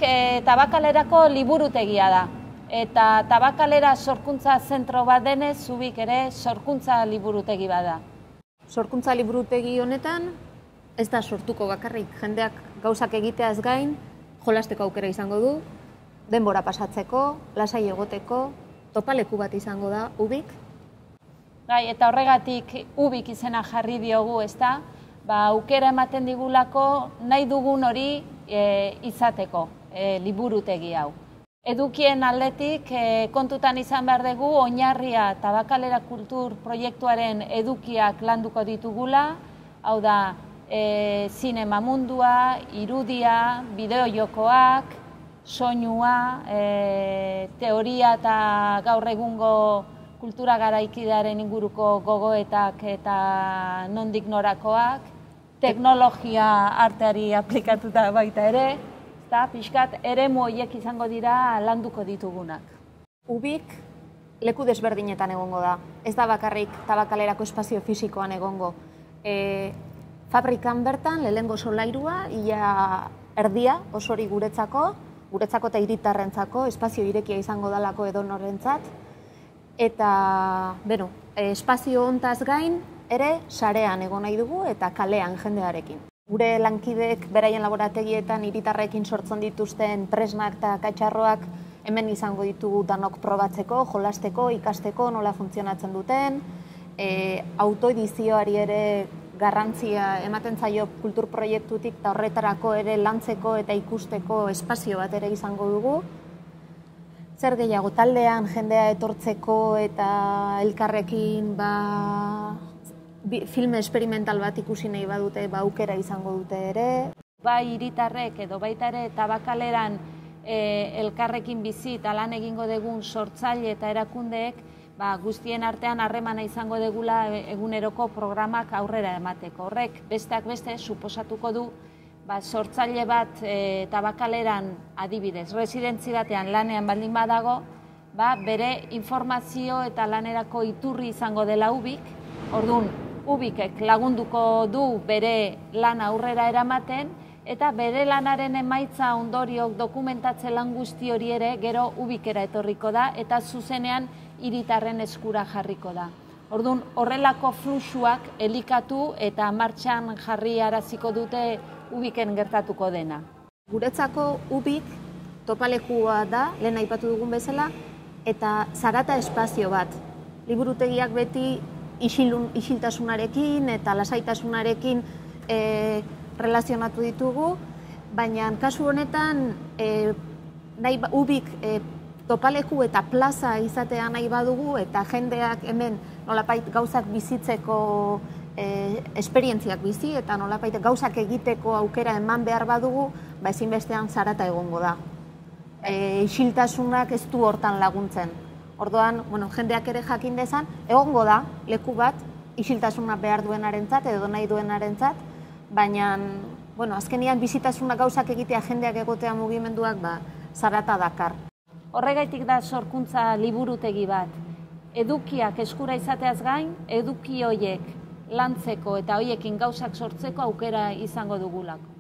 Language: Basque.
Tabakalerako liburutegia da. Eta Tabakalera sorkuntza zentro bat denez, Ubik ere sorkuntza liburutegi bat da. Sorkuntza liburutegi honetan ez da sortuko bakarrik, jendeak gauzak egiteaz gain, jolasteko aukera izango du, denbora pasatzeko, lasai egoteko, topaleku bat izango da Ubik. Bai, eta horregatik Ubik izena jarri diogu, ezta? Aukera ematen digulako nahi dugun hori izateko liburutegi hau. Edukien aldetik kontutan izan behar dugu oinarria Tabakalera kultur proiektuaren edukiak landuko ditugula, hau da zinema mundua, irudia, bideojokoak, soinua, teoria eta gaur egungo kultura garaikidearen inguruko gogoetak eta nondik norakoak, teknologia arteari aplikatuta baita ere, eta pixkat eremu horiek izango dira landuko ditugunak. Ubik leku desberdinetan egongo da, ez da bakarrik Tabakalerako espazio fisikoan egongo. Fabrikan bertan, lehengo solairua, ia erdia osori guretzako eta hiritarrentzako, espazio irekia izango dalako edonorentzat. Eta, espazio hontaz gain, ere sarean egon nahi dugu eta kalean jendearekin. Gure lankideek beraien laborategietan hiritarrekin sortzen dituzten tresnak eta katxarroak hemen izango ditugu danok probatzeko, jolasteko, ikasteko, nola funtzionatzen duten, autoedizioari ere garrantzia ematen zaio kultur proiektutik eta horretarako ere lantzeko eta ikusteko espazio bat ere izango dugu. Zer gehiago, taldean jendea etortzeko eta elkarrekin filme esperimental bat ikusi nahi badute, aukera izango dute ere. Bai hiritarrek edo baita ere Tabakaleran elkarrekin bizi eta lan egingo dugun sortzaile eta erakundeek guztien artean harremana izango degula eguneroko programak aurrera emateko. Horrek besteak beste suposatuko du sortzaile bat Tabakaleran adibidez, residentzi batean lanean baldin badago, bere informazio eta lanerako iturri izango dela Ubik. Orduan, Ubikek lagunduko du bere lana aurrera eramaten, eta bere lanaren emaitza ondoriok dokumentatze lan guzti hori ere gero Ubikera etorriko da, eta zuzenean hiritarren eskura jarriko da. Orduan, horrelako fluxuak elikatu eta martxan jarri araziko dute Ubiken gertatuko dena. Guretzako Ubik topalekua da, lehen aipatu dugun bezala, eta zarata espazio bat. Liburutegiak beti isiltasunarekin eta lasaitasunarekin relazionatu ditugu, baina kasu honetan Ubik topaleku eta plaza izatea nahi badugu eta jendeak hemen nolapait gauzak bizitzeko esperientziak bizi eta nolapait gauzak egiteko aukera eman behar badugu, ezinbestean zarata egongo da. Isiltasunak ez du hortan laguntzen. Orduan, jendeak ere jakin dezan, egongo da leku bat isiltasuna behar duenarentzat edo nahi duenarentzat, baina azkenian bizitasunak gauzak egitea jendeak egotea mugimenduak zarata dakar. Horregaitik da sorkuntza liburutegi bat. Edukiak eskura izateaz gain, eduki horiek lantzeko eta horiekin gauzak sortzeko aukera izango dugulako.